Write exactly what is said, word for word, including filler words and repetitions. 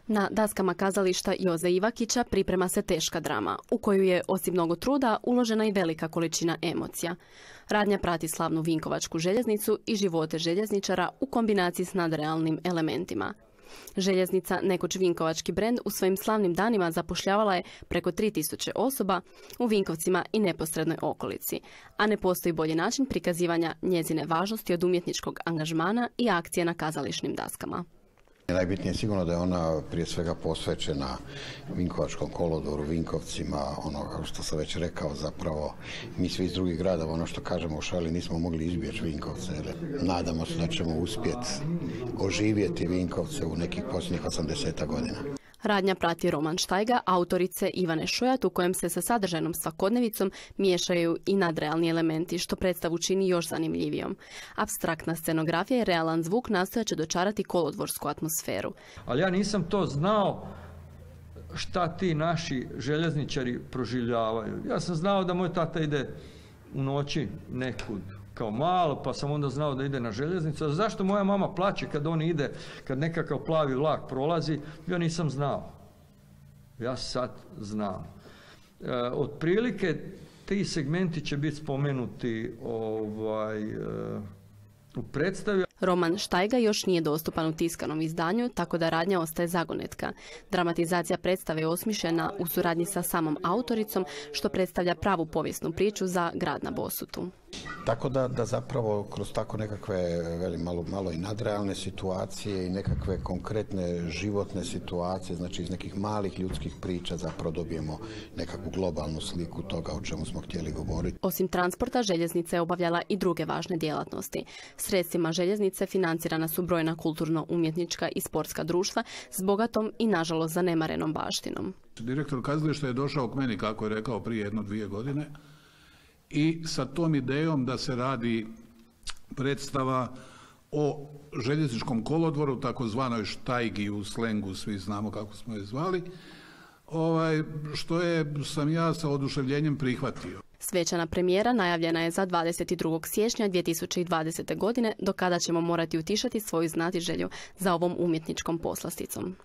Na daskama kazališta Joze Ivakića priprema se teška drama, u koju je, osim mnogo truda, uložena i velika količina emocija. Radnja prati slavnu Vinkovačku željeznicu i živote željezničara u kombinaciji s nadrealnim elementima. Željeznica, nekoć vinkovački brend, u svojim slavnim danima zapošljavala je preko tri tisuće osoba u Vinkovcima i neposrednoj okolici, a ne postoji bolji način prikazivanja njezine važnosti od umjetničkog angažmana i akcije na kazališnim daskama. Najbitnije je sigurno da je ona prije svega posvećena Vinkovačkom kolodvoru, Vinkovcima, ono kao što sam već rekao, zapravo mi svi iz drugih gradova, ono što kažemo u šali, nismo mogli izbjeći Vinkovce. Nadamo se da ćemo uspjeti oživjeti Vinkovce u nekih posljednjih osamdeset godina. Radnja prati roman Štajga, autorice Ivane Šojat, u kojem se sa sadržajnom svakodnevicom miješaju i nadrealni elementi, što predstavu čini još zanimljivijom. Apstraktna scenografija i realan zvuk nastojat će dočarati kolodvorsku atmosferu. Ali ja nisam to znao šta ti naši željezničari proživljavaju. Ja sam znao da moj tata ide u noći nekud kao malo, pa sam onda znao da ide na željeznicu. A zašto moja mama plače kad on ide, kad nekakav plavi vlak prolazi, ja nisam znao. Ja sad znam. E, otprilike ti segmenti će biti spomenuti ovaj, e, u predstavi. Roman Štajga još nije dostupan u tiskanom izdanju, tako da radnja ostaje zagonetka. Dramatizacija predstave je osmišljena u suradnji sa samom autoricom, što predstavlja pravu povijesnu priču za grad na Bosutu. Tako da, da zapravo kroz tako nekakve veli, malo, malo i nadrealne situacije i nekakve konkretne životne situacije, znači iz nekih malih ljudskih priča zapravo dobijemo nekakvu globalnu sliku toga o čemu smo htjeli govoriti. Osim transporta, željeznica je obavljala i druge važne djelatnosti. Sredstvima željeznice financirana su brojna kulturno-umjetnička i sportska društva s bogatom i nažalost zanemarenom baštinom. Direktor kazališta je došao k meni, kako je rekao, prije jedno dvije godine i sa tom idejom da se radi predstava o željezničkom kolodvoru, takozvanoj Štajgi u slengu, svi znamo kako smo je zvali, ovaj, što je sam ja sa oduševljenjem prihvatio. Svečana premijera najavljena je za dvadeset drugog siječnja dvije tisuće dvadesete. godine, do kada ćemo morati utišati svoju znatiželju za ovom umjetničkom poslasticom.